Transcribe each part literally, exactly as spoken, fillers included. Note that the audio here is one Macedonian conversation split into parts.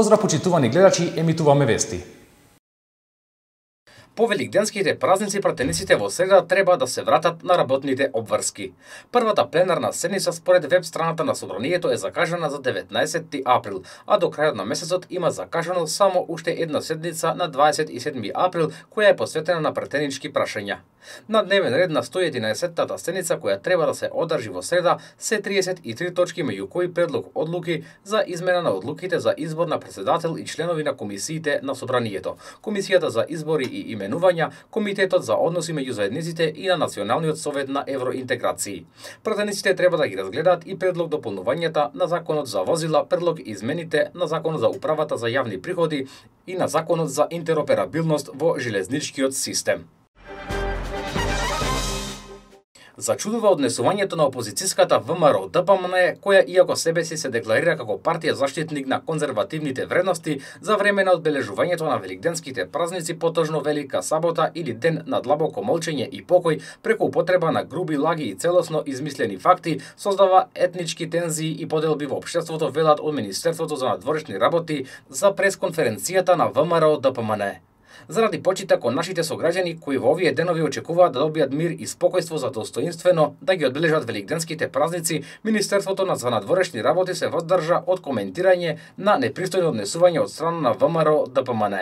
Поздрав почитувани гледачи, емитуваме вести. По великденските празници пратениците во среда треба да се вратат на работните обврски. Првата пленарна седница според веб страната на Собранието е закажана за деветнаесетти април, а до крајот на месецот има закажано само уште една седница на дваесет и седми април, која е посветена на пратенички прашања. На дневен ред на сто и единаесеттата седница која треба да се одржи во среда се триесет и три точки, меѓу кои предлог одлуки за измена на одлуките за избор на претседател и членови на комисиите на Собранието, Комисијата за избори и именувања, Комитетот за односи меѓу заедниците и на Националниот совет на евроинтеграции. Пратениците треба да ги разгледаат и предлог дополнувањата на Законот за возила, предлог измените на Законот за управата за јавни приходи и на Законот за интероперабилност во железничкиот систем. Зачудува однесувањето на опозицијската ВМРО Д П М Н, која иако себе си се декларира како партија заштитник на конзервативните вредности, за време на одбележувањето на великденските празници, потожно Велика сабота или ден на длабоко молчење и покој, преку употреба на груби лаги и целосно измислени факти, создава етнички тензии и поделби во општеството, велат од Министерството за надворешни работи за пресконференцијата на ВМРО Д П М Н. Заради почита кон нашите сограѓани кои во овие денови очекуваат да добијат мир и спокојство за достоинствено да ги одбележат великденските празници, Министерството за надворешни работи се воздржа од коментирање на непристојно однесување од страна на ВМРО Д П М Н.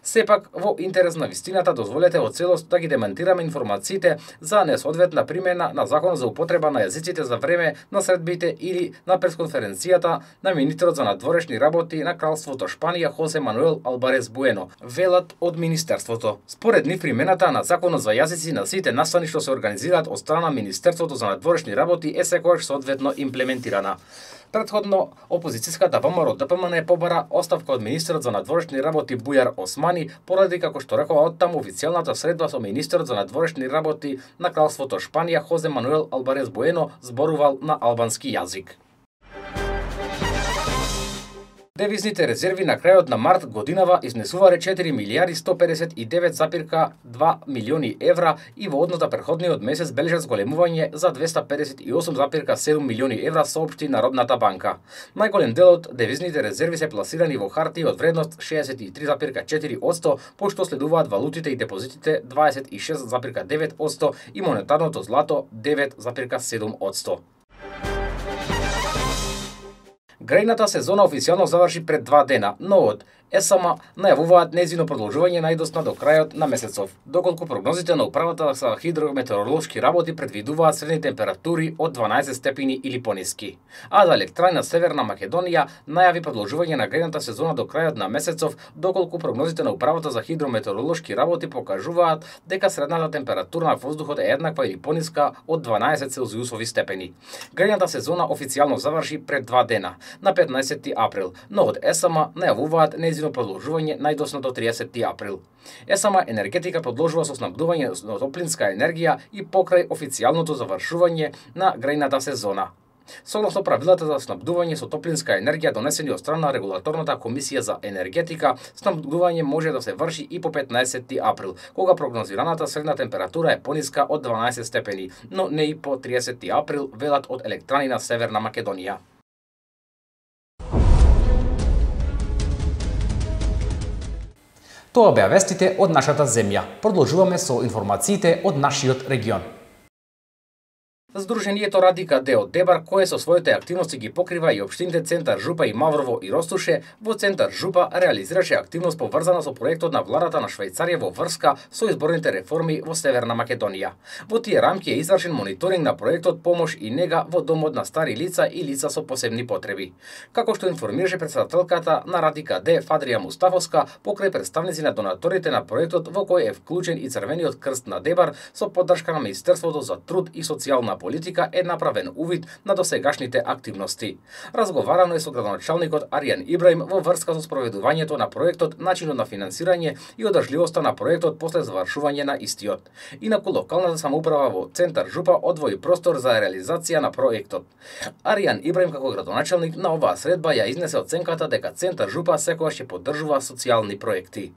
Сепак, во интерес на вистината, дозволете во целост да ги демантираме информациите за несоодветна примена на Законот за употреба на јазиците за време на средбите или на пресконференцијата на министерот за надворешни работи на Кралството Шпанија Хосе Мануел Албарес Буено, велат од Министерството. Според нив, примената на Законот за јазици на сите настани што се организираат од страна Министерството за надворешни работи е секогаш соодветно имплементирана. Претходно, опозицијската ВМРО Д П М Н побара оставка од министерот за надворешни работи Бујар Османи, поради, како што рекова оттаму, официјалната средба со министерот за надворешни работи на Кралството Шпанија Хозе Мануел Албарес Буено зборувал на албански јазик. Девизните резерви на крајот на март годинава изнесувале четири милијарди сто педесет и девет запирка два милиони евра и во однос на претходниот месец бележат зголемување за двеста педесет и осум запирка седум милиони евра, соопшти Народната банка. Најголем дел од девизните резерви се пласирани во хартии од вредност шеесет и три запирка четири одсто, пошто следуваат валутите и депозитите дваесет и шест запирка девет одсто и монетарното злато девет запирка седум одсто. Грејната сезона официјално заврши пред два дена, но од Е С М најавуваат нејзино продолжување најдосна до крајот на месецов, доколку прогнозите на управата за хидрометеоролошки работи предвидуваат средни температури од дванаесет степени или пониски. А за Електрана Северна Македонија најави продолжување на грејната сезона до крајот на месецов, доколку прогнозите на управата за хидрометеоролошки работи покажуваат дека средната температура на воздухот е еднаква или пониска од дванаесет целзиусови степени. Грејната сезона официјално заврши пред два дена, на петнаесетти април, но од Е С М најавуваат нејзино продолжување најдосно до триесетти април. Е С М енергетика продолжува со снабдување на топлинска енергија и покрај официјалното завршување на грејната сезона. Согласно правилата за снабдување со топлинска енергија донесени од страна на Регулаторната комисија за енергетика, снабдување може да се врши и по петнаесетти април, кога прогнозираната средна температура е пониска од дванаесет степени, но не и по триесетти април, велат од Електрани на Северна Македонија. Тоа беа вестите од нашата земја. Продолжуваме со информациите од нашиот регион. Сдруженијето Радика Д од Дебар, кое со своите активности ги покрива и општините Центар Жупа и Маврово и Ростуше, во Центар Жупа реализираше активност поврзана со проектот на владата на Швајцарија во врска со изборните реформи во Северна Македонија. Во тие рамки е извршен мониторинг на проектот Помош и нега во домот на стари лица и лица со посебни потреби. Како што информираше претседателката на Радика Д Фадрија Мустафовска, покрај представници на донаторите на проектот, во кој е вклучен и Црвениот крст на Дебар, со поддршка на Министерството за труд и социјална политика, е направен увид на досегашните активности. Разговарано е со градоначалникот Аријан Ибраим во врска со спроведувањето на проектот, начинот на финансирање и одржливоста на проектот после завршување на истиот. Инаку локалната самоуправа во Центар Жупа одвои простор за реализација на проектот. Аријан Ибраим како градоначалник на оваа средба ја изнесе оценката дека Центар Жупа секогаш ќе поддржува социјални проекти.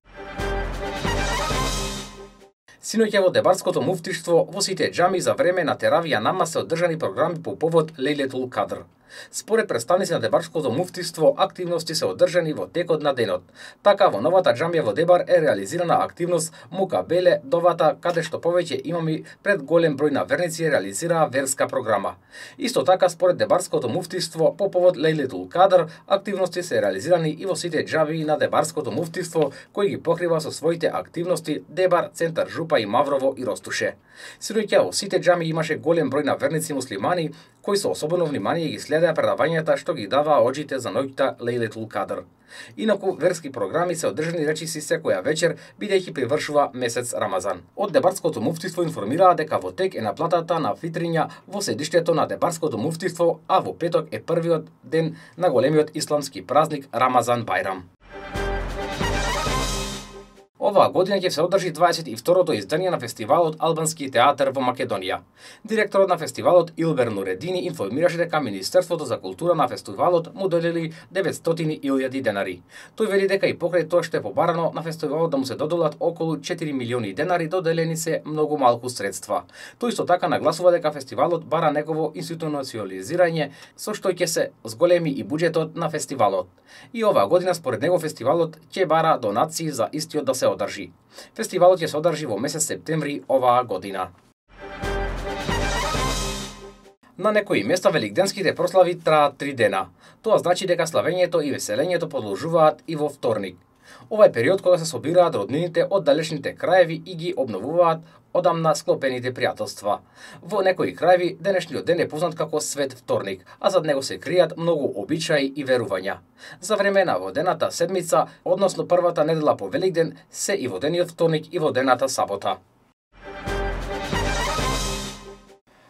Синоќа во Дебарското муфтиштво во сите џами за време на теравија намаз се одржани програми по повод Лейлетул Кадр. Според представници на Дебарското муфтиство, активности се одржани во текот на денот. Така во новата џамија во Дебар е реализирана активност Мукабеле Довата, каде што повеќе имами пред голем број на верници реализираа верска програма. Исто така, според Дебарското муфтиство, по повод Лейлетул Кадр, активности се реализирани и во сите џамии на Дебарското муфтиство, кој ги покрива со своите активности Дебар, Центар Жупа и Маврово и Ростуше. Синоќа во сите џамии имаше голем број на верници муслимани, кои со особено внимание ги следеа предавањата што ги даваа оџите за ноќта Лейлетул Кадр. Инаку верски програми се одржани речиси секоја вечер, бидејќи привршува месец Рамазан. Од Дебарското муфтиство информираа дека во тек е наплатата на фитриња во седиштето на Дебарското муфтиство, а во петок е првиот ден на големиот исламски празник Рамазан Бајрам. Оваа година ќе се одржи дваесет и второто издание на фестивалот Албански театар во Македонија. Директорот на фестивалот Илбер Нуредини информираше дека Министерството за култура на фестивалот му додели деветстотини илјади денари. Тој вели дека и покрај тоа што е побарано на фестивалот да му се доделат околу четири милиони денари, доделени се многу малку средства. Тој исто така нагласува дека фестивалот бара негово институционализирање, со што ќе се зголеми и буџетот на фестивалот. И оваа година според него фестивалот ќе бара донации за истиот да се одржи. Фестивалот ќе се одржи во месец септември оваа година. На некои места великденските прослави траат три дена. Тоа значи дека славењето и веселењето продолжуваат и во вторник. Ова е период кога се собираат роднините од далечните краеви и ги обновуваат одамна склопените пријателства. Во некои краеви денешниот ден е познат како Свет вторник, а зад него се кријат многу обичаи и верувања. За време на водената седмица, односно првата недела по Великден, се и водениот вторник и водената сабота.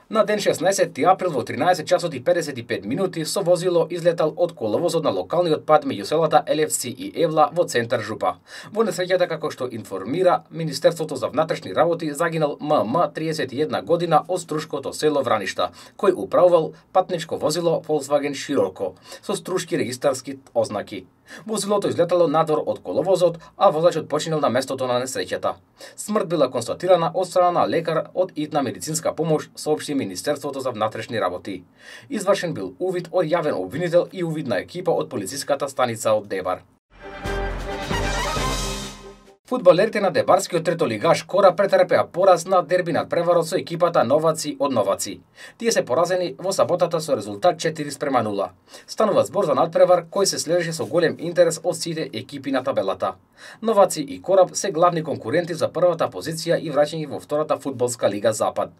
На ден шеснаесети април во тринаесет часот и педесет и пет минути со возило излетал од коловозот на локалниот пат меѓу селата Елевци и Евла во Центар Жупа. Во несреќата, како што информира Министерството за внатрешни работи, загинал М М триесет и една година од Струшкото село Враништа, кој управувал патничко возило Volkswagen Scirocco со струшки регистарски ознаки. Возилото излетало надвор од коловозот, а возачот починал на местото на несреќата. Смрт била констатирана од страна на лекар од итна медицинска помош, соопшти Министерството за внатрешни работи. Извршен бил увид од јавен обвинител и увидна екипа од полициската станица од Дебар. Фудбалерите на Дебарскиот третолигаш Кораб претрпеа пораз на дерби надпреварот со екипата Новаци од Новаци. Тие се поразени во саботата со резултат четири спрема нула. Станува збор за надпревар кој се следеше со голем интерес од сите екипи на табелата. Новаци и Кораб се главни конкуренти за првата позиција и враќање во втората фудбалска лига Запад.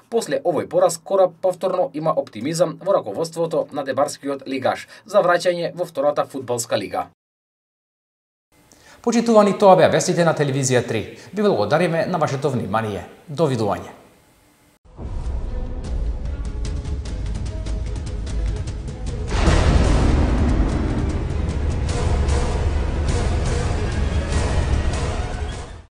После овој пораз Кораб повторно има оптимизам во раководството на Дебарскиот лигаш за враќање во втората фудбалска лига. Почитувани, тоа беа вестите на телевизија три. Ви благодариме на вашето внимание. Довидување.